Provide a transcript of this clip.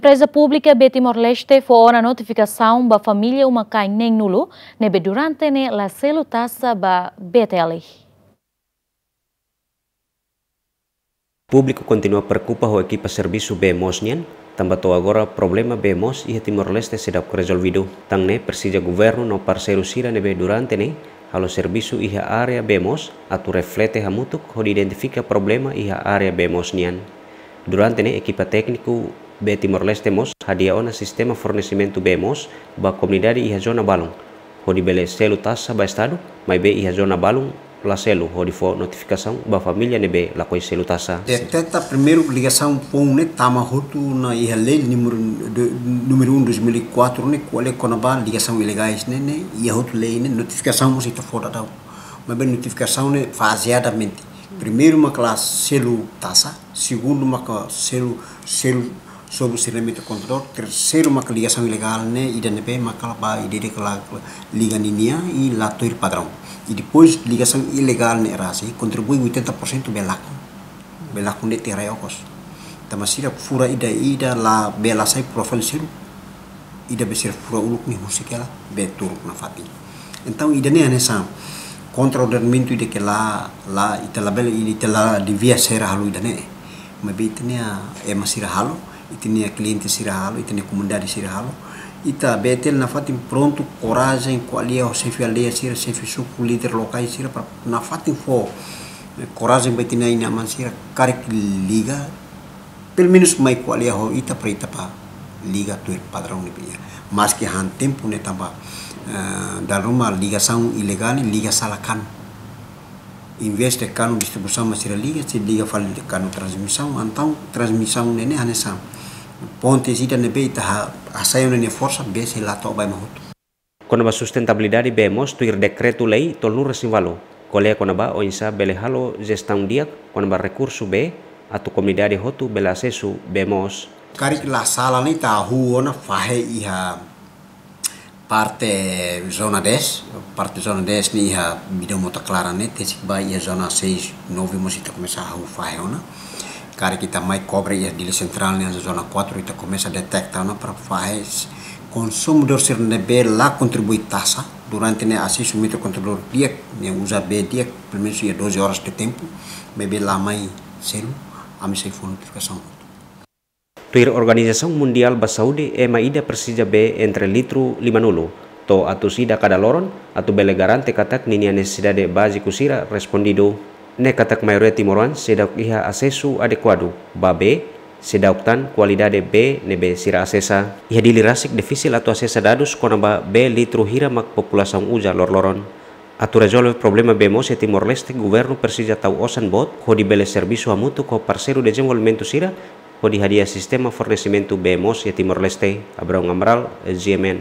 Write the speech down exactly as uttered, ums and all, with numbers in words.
Empreza Públika bee Timor-Leste fó ona notifikasaun ba família uma-kain neen-nulu ne'ebé durante ne'e la selu taxa ba B T L. Públiku kontinua preokupa ho ekipa servisu bee moos nian, tanba to'o agora problema bee moos iha Timor-Leste seidauk rezolvidu. Tan ne'e presiza governu no parseiru sira ne'ebé durante ne'e halo servisu iha área bee moos atu reflete hamutuk hodi identifika problema iha área bee moos nian. Durante ne'e ekipa tékniku bee Timor-Leste mós hadi'a ona sistema fornesimentu bee moos ba komunidade iha zona balun, hodi bele selu taxa ba estadu, maibé iha zona balun la selu hodi fó notifikasaun ba família ne'ebé lakohi selu taxa. Deteta primeiru ligasaun foun ne'e tama hotu ona iha lei númeru de, númeru um dois mil e quatro ne'e, ko'alia kona-ba ligasaun ilegais ne'e, ne'e iha hotu lei ne'e, notifikasaun mós ita fó daudaun. Maibé notifikasaun ne'e fazeadamente. Primeiru maka la selu taxa, segundu maka selu, selu sobu sirnamento kontadór, terseiru maka ligasaun ilegál ne'e, ida ne'ebé maka la ba ida-idak la liga ninia i la tuir padraun. I depois ligasaun ilegál ne'e rasik kontribui oitenta por cento bee lakon. Bee lakon de'it iha rai okos. Tanba sira fura ida-idak la bee la sai profil sira. Ida be sira fura uluk ne'e husik hela bee turuk nafatin. Entaun ida-ne'e hanesan kontra-ordenamentu ida ke la, la ita labele, ita la devia sira halo ida-ne'e. Maibé ita-nia ema sira halo, ita-nia kliente sira halo, ita-nia komunidade sira halo. Ita B T L nafatin prontu, korajen, ko'alia ho xefe aldeia sira, xefe suku, líder lokais sira, para nafatin fó, eh, korajen ba ita-nia inan-aman sira, karik liga, pelumenus mai ko'alia ho ita para ita bá liga tuir padraun ne'ebé iha. Maski han tempu ne'e tanba, eh, dala ruma ligasaun ilegál ne'e liga sala kanu. Envezde kanu distribuisaun mak sira liga, sira liga fali kanu transmisaun, entaun transmisaun ne'e ne'e hanesan ponte ida ne'ebé ita ha-, hasai ona nia forsa, bee sei la to'o ba ema hotu. Kona-ba sustentabilidade bee moos tuir dekretu-lei tolunulu-resin-ualu, ko'alia kona-ba oinsá bele halo jestaun di'ak kona-ba rekursu bee atu komunidade hotu bele asesu bee moos. Karik la sala ne'e ita hahú ona fahe iha parte zona dez, parte zona dez ne'e iha Bidon Mota Clara ne'e, tesi ba iha zona seis, nove mós ita komesa hahú fahe ona. Karik ita mai kobre iha Dili Sentrál ne'e zona quatro, ita komesa deteta ona para fahe konsumidór sira ne'ebé la kontribui taxa durante ne'e asesu metru kontadór di'ak, ne'e uza bee di'ak, pelumenus iha doze horas de tempu, maibé la mai selu, ami sei fó notifikasaun. Tuir Organizasaun Mundiál ba Saúde, ema ida presiza bee entre litru lima-nulu to'o atus ida kada loron, atu bele garante katak ninia nesesidade báziku sira respondidu. Ne'e katak maioria timoroan seidauk iha asesu adekuadu ba bee, seidauk tan kualidade bee ne'ebé sira asesa. Iha Dili rasik difisil atu asesa dadus kona-ba bee litru hira mak populasaun uza loroloron. Atu rezolve problema bee moos iha Timor-Leste, governu presiza tau osan boot hodi bele servisu hamutuk ho parseiru dezenvolvimentu sira hodi hadi'a sistema fornesimentu bee moos iha Timor-Leste. Abraão Amaral, G M N.